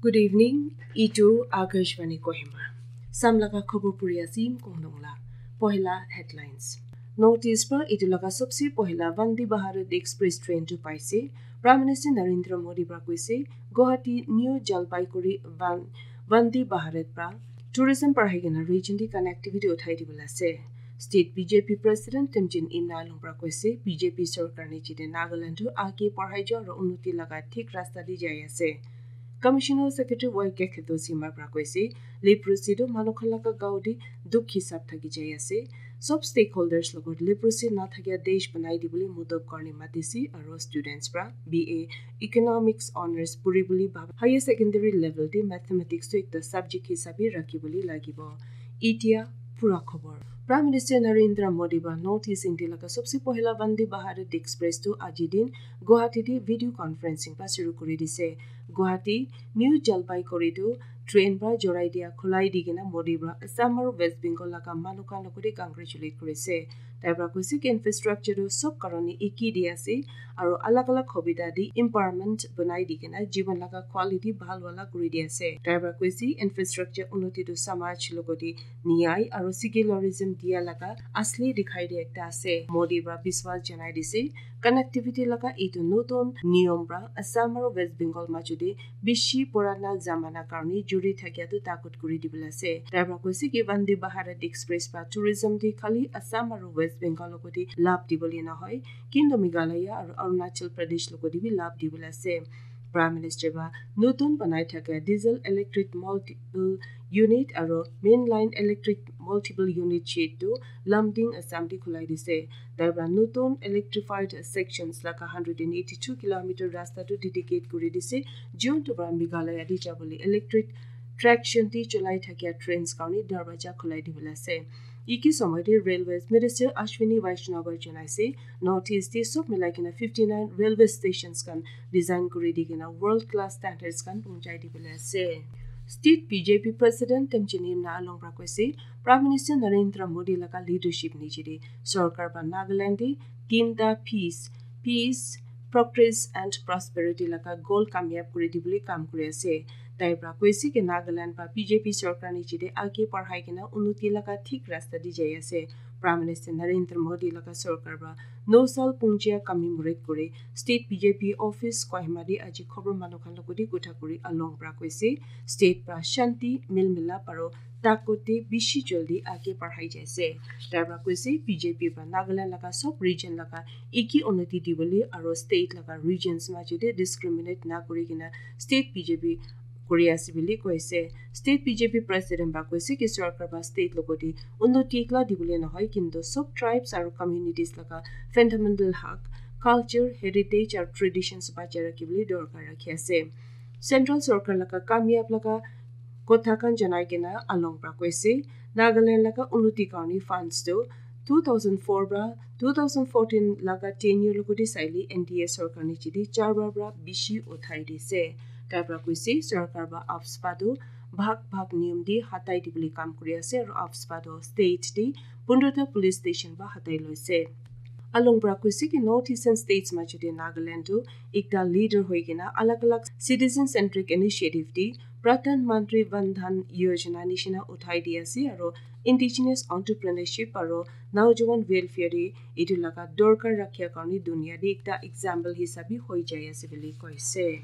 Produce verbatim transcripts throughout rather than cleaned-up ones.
Good evening, itu Akashvani Kohima. Sam laga khobor puri asim kongdong la. Pohila headlines. North East pa itu laga sabse pohila Vande Bharat Express train tu paise. Prime Minister Narendra Modi pra koise, Guwahati New Jalpaiguri Van-, Vande Bharat pra tourism parhai kena region di connectivity uthai dibole ase. State B J P President Temjen Imna Along pra koise, B J P sorkar niche te Nagaland tu aage parhai jo aro unnoti laga thik rasta di jai ase. Commissioner Secretary Y K Kheto Sima pra koise, leprosy tu manu khan laga gao di dukh hisab thaki jai ase. Sob stakeholders logot leprosy na thakia desh banai dibole mudop karne matise aro students pra B A Economics Honours puri bole bhaba higher secondary level te mathematics tu ekta subject hisabe rakhi bole lagibo. Itia pura khobor. Prime Minister Narendra Modi ba North East India laga sabse pohila Vande Bharat Express tu aji din Guwahati te video conferencing pa shuru kuri dise. Guwahati New Jalpaiguri tu train pra jorai dia khulai di kena Modi pra Assam aro West Bengal laga manu khan logot te congratulate kuri ase. Tai pra koise ki infrastructure tu sob karone eki di ase aro alag alag hobida di empowerment banai di kena jiban laga quality bhal wala kuri di ase. Tai pra koise infrastructure unnoti tu samaj logot te niyai aro secularism dia laga asli dikhai dia ekta ase. Modi pra biswas janai dise, connectivity laga itu notun niyom pra Assam aro West Bengal majo te bishi purana zamana karne juri thakia tu takut kuri dibole ase. Tai pra koise ki Vande Bharat Express pra tourism te khali Assam aro West Bengal logot te labh dibole nahoi, kintu Meghalaya aro Arunachal Pradesh logot te bi labh dibole ase. Prime Minister ba notun banai thaka diesel electric multiple unit aro mainline electric multiple unit shed tu Lumding, Assam te khulai dise. Tai pra notun electrified sections laga hundred and eighty-two kilometer rasta tu dedicate kuri dise, jiun tu pra Meghalaya te jabole electric traction te cholai thakia trains karne darwaja khulai dibole ase. Iki somoy te Railways Minister Ashwini Vaishnaw ba janai ase, North East te sob milai kena fifty-nine railway stations khan design kuri di kena world class standards khan punchai dibole ase. State B J P President Temjen Imna Along pra koise, Prime Minister Narendra Modi laga leadership niche te sorkar pra Nagaland te tinta peace, peace, progress and prosperity laga goal kamyab kuri dibole kam kuri ase. Tai pra koise ki Nagaland pra B J P sorkar niche te aage parhai kena unnoti laga thik rasta di jai ase. Prime Minister Narendra Modi laga sorkar pra no sal punjia commemorate kuri State B J P office Kohima te aji khobor manu khan logot te kotha kuri Along pra koise, state pra shanti, milmilap aro takut te bishi jaldi aage parhai jai ase. Tai pra koise B J P pra Nagaland laga sob region laga eki unnoti dibole aro state laga regions majo te discriminate na kuri kena state B J P kuri ase bole koise. State B J P president ba koise ki sorkar ba state logot te unnoti ekla dibole nahoi, kintu sob tribes aro communities laga fundamental hak, culture, heritage aro traditions bachai rakhi bole dorkar rakhi ase. Central sorkar laga kamyab laga kotha khan janai kena Along pra koise, Nagaland laga unnoti karne funds tu two thousand four pra two thousand fourteen laga tenure logot te saile N D A sorkar niche te char bar pra bishi uthai dise. Tai pra koise sorkar ba AFSPA tu bhag bhag niyom te hatai dibole kam kuri ase aro AFSPA tu state te pundra ta police station ba hatai loise. Along pra koise ki North Eastern states majo te Nagaland tu ekta leader hoi kena alag alag citizen centric initiative te Pradhan Mantri Van Dhan Yojana nishina uthai di ase aro indigenous entrepreneurship aro naujawan welfare te itu laga dorkar rakhia karne dunia te ekta example hisabe hoi jai ase bole koise.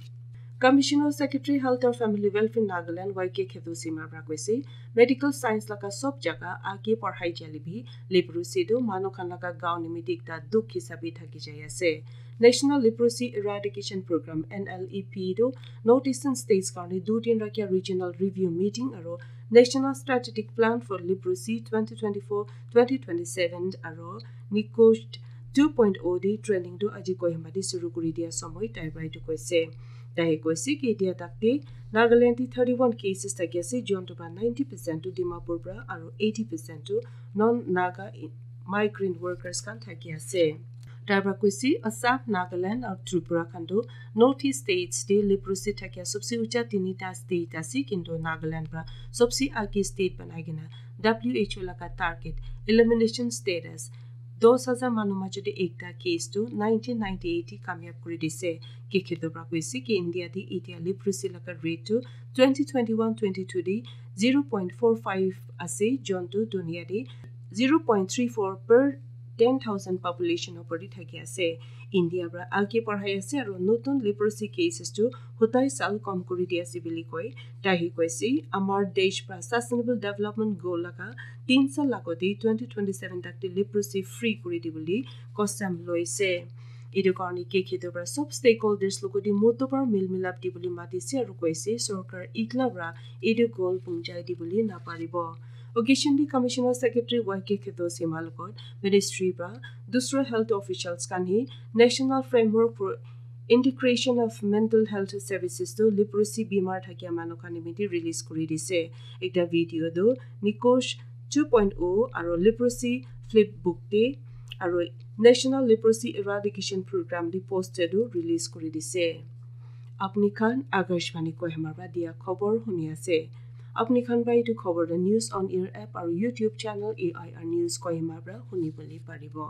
Commissioner Secretary Health and Family Welfare Nagaland Y K Kheto Sima pra koise, medical science laga sob jaga aage parhai jale bi leprosy tu manu khan laga gao nimite ekta dukh hisabe thaki jai ase. National Leprosy Eradication Program, N L E P, tu North Eastern States karne du din rakhia regional review meeting aro National Strategic Plan for Leprosy twenty twenty-four twenty twenty-seven aro NEQOSH two point oh te training tu aji Kohima te shuru kuri dia somoy tai pra itu koise. Tai koise ki itia tak te Nagaland te thirty-one cases thaki ase, jiun tu pra ninety percent tu Dimapur pra aro eighty percent tu non-Naga i-, migrant workers khan thaki ase. Tai pra koise Assam, Nagaland aro Tripura khan tu North East states te leprosy thakia sobse ucha tinita state ase, kintu Nagaland pra sobse aage state banai kena W H O laga target elimination status Dos hajar manu majot te ekta case tu nineteen ninety eight te kamyab kuri dise. Kekhedo pra koise ki India te itia leprosy laga rate tu twenty twenty-one twenty-two te zero point four five ase, jontu dunia te zero point three four per ten thousand population opor te thaki ase. India pra age parhai ase aro notun leprosy cases tu hotai sal kom kuri di ase bili koi. Tai hi koise, amar desh pra sustainable development goal laga tin sal agote twenty twenty-seven tak te leprosy free kuri di bili kosam loise. Etu karne kekhedo pra sob stakeholders logoti moto pra mil milap di bili matise aro koise sorkar ikla pra etu goal pungjai di bili naparibo. Occasion te Commissioner Secretary Y K Kheto Sema logot ministry pra dusra health officials khan hi National Framework for Integration of Mental Health Services tu leprosy bimar thakia manu khan nimite release kuri dise. Ekta video tu Nikosh two point oh aro leprosy flip book te aro National Leprosy Eradication Program te poster tu release kuri dise. Apni khan Akashvani Kohima pra dia khobor huni ase. Apni khan pra etu khobor tu News on Air app aro YouTube channel A I R News Kohima pra huni bole paribo.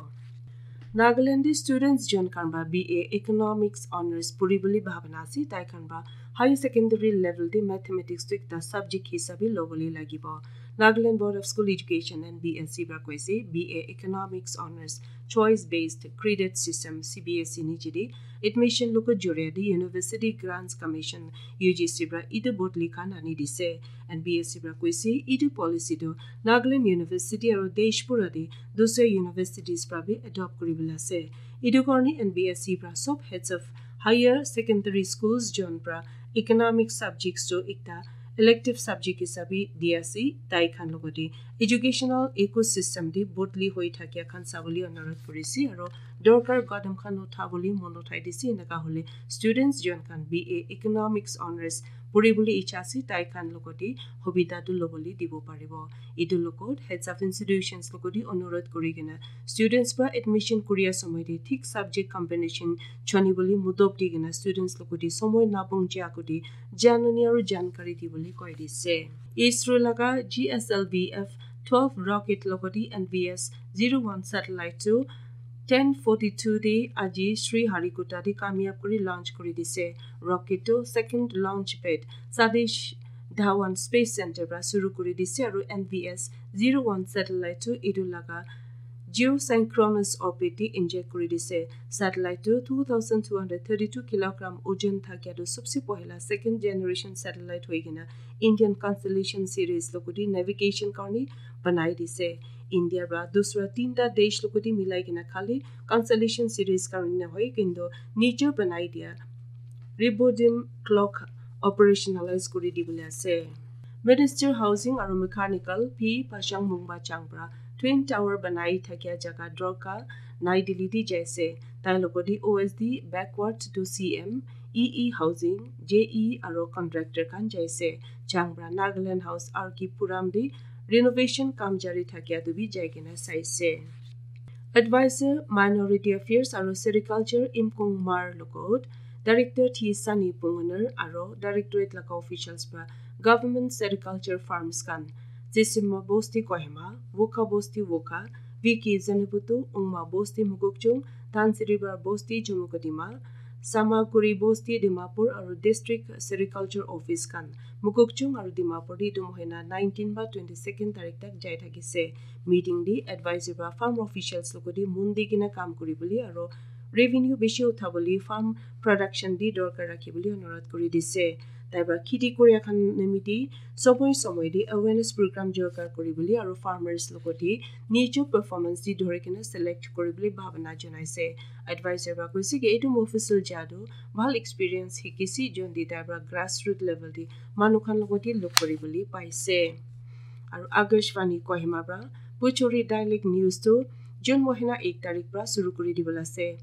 Nagaland te students jon khan pra B A Economics Honours puri bole bhabana ase, tai khan pra higher secondary level te mathematics tu ekta subject hisabe lobole lagibo. Nagaland Board of School Education, N B S E pra koise, B A Economics Honours choice based credit system, C B S E niche te admission logot joriya te University Grants Commission, U G C pra etu bodli khan ani dise. N B S E pra koise etu policy tu Nagaland University aro desh pura te dusra universities pra bi adopt kuri bole ase. Etu karne N B S E pra sob heads of higher secondary schools jon pra economic subjects tu ekta elective subject hisabe di ase, tai khan logote educational ecosystem te bodli hoi thakia khan sabole onurodh kurise aro dorkar kadam khan uthabole mon uthai dise. Enaka hole students jon khan B A Economics Honours puri bole icha ase, tai khan logote hobita tu lobole dibo paribo. Etu logot heads of institutions logote onurodh kuri kena students pra admission kuria somoy te thik subject combination choni bole mudob di kena students logote somoy nabong je agote janani aro jankari di bole koi dise. ISRO laga G S L V F twelve rocket logote N V S zero one satellite tu ten forty-two te aji Sriharikota te kamyab kuri launch kuri dise. Rocket tu second launch pad Satish Dhawan Space Center pra shuru kuri dise aro N V S zero one satellite tu etu laga geosynchronous orbit te inject kuri dise. Satellite tu two thousand two hundred thirty-two kilogram ojon thakia tu sobse pohila second generation satellite hoi kena Indian constellation series logote navigation karne banai dise. India pra dusra tinta desh logote milai kena khali constellation series karne nahoi kintu nijer banai dia Rebodim clock operationalize kuri dibole ase. Minister Housing aro Mechanical P Pashang Mungba Chang pra Twin Tower banai thakia jaga dorka nai Delhi te jaise. Tai logote O S D backward to C M, E E Housing, J E aro contractor khan jaise. Chang pra Nagaland House R K Puram te renovation kam jari thakia tu bi jai kena saise. Advisor Minority Affairs aro Sericulture Imkong Mar logot Director T Sani Pungoner aro Directorate laga officials pra Government Sericulture Farms khan Zisima Bosti Kohima, Wokha Bosti Wokha, Viki Zanaputu, Ungma Bosti Mukokchung, Tansiribar Bosti Jumukodima, Samakuri Bosti Dimapur aro District Sericulture Office khan Mukokchung aro Dimapur te etu mohina nineteen ba twenty-second tarik tak jai thakise. Meeting te advisor ba farm officials logote mon di kena kam kuri bole aro revenue bishi utha bole farm production te dorkar rakhi bole onurodh kuri dise. Tai pra kheti koria khan nimite somoy somoy te awareness program dorkar kuri bole aro farmers logote nijo performance te dhori kena select kuri bole bhabana janaise. Advisor ba koise ki etu Mofussil Jadoo bhal experience hikise, jon te tai pra grassroot level te manu khan logote log kuri bole paise. Aro Akashvani Kohima pra Bhojpuri Dialect News tu June mohina ek tarik pra shuru kuri dibole ase.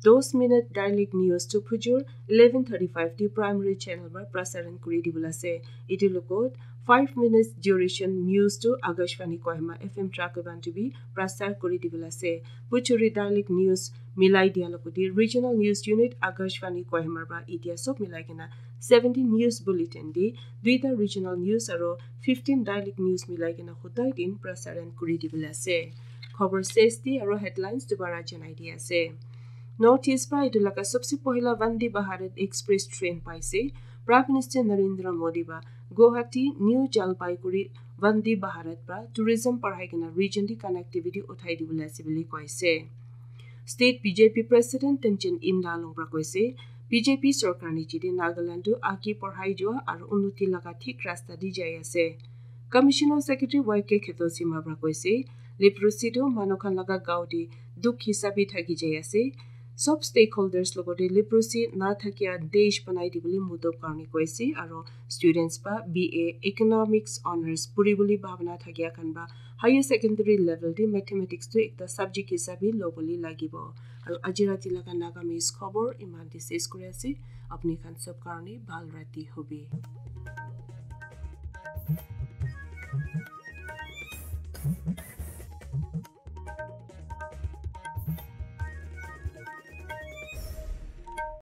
Dos minute dialect news tu phujur eleven thirty-five te primary channel pra prasaran kuri dibole ase. Etu logot five minutes duration news tu Akashvani Kohima F M Trakuban te bi prasar kuri dibole ase. Bhojpuri dialect news milai dia logote regional news unit Akashvani Kohima pra etia sob milai kena seventeen news bulletin te duita regional news aro fifteen dialect news milai kena hodai din prasaran kuri dibole ase. Khobor sesti aro headlines dubara janai di ase. North East pra etu laga sabse pohila Vande Bharat Express train paise. Prime Minister Narendra Modi ba Guwahati New Jalpaiguri Vande Bharat pra tourism parhai kena region di connectivity uthai dibole ase bole koise. State B J P President Temjen Imdalung pra koise, B J P sorkar niche te Nagaland tu age parhai jua aro unnoti laga thik rasta di jai ase. Commissioner Secretary Y K Kheto Sima pra koise, leprosy tu manu khan laga gao te dukh hisabe thaki jai ase. Sob stakeholders logote leprosy na thakia desh banai dibole mudob karne koise aro students ba B A Economics Honours puribole bhabana thakia khan ba higher secondary level te mathematics tu ekta subject hisabe lobole lagibo. Aro aji rati laga Nagamese khobor iman te ses kuri ase. Apni khan sob karne bhal rati hobi.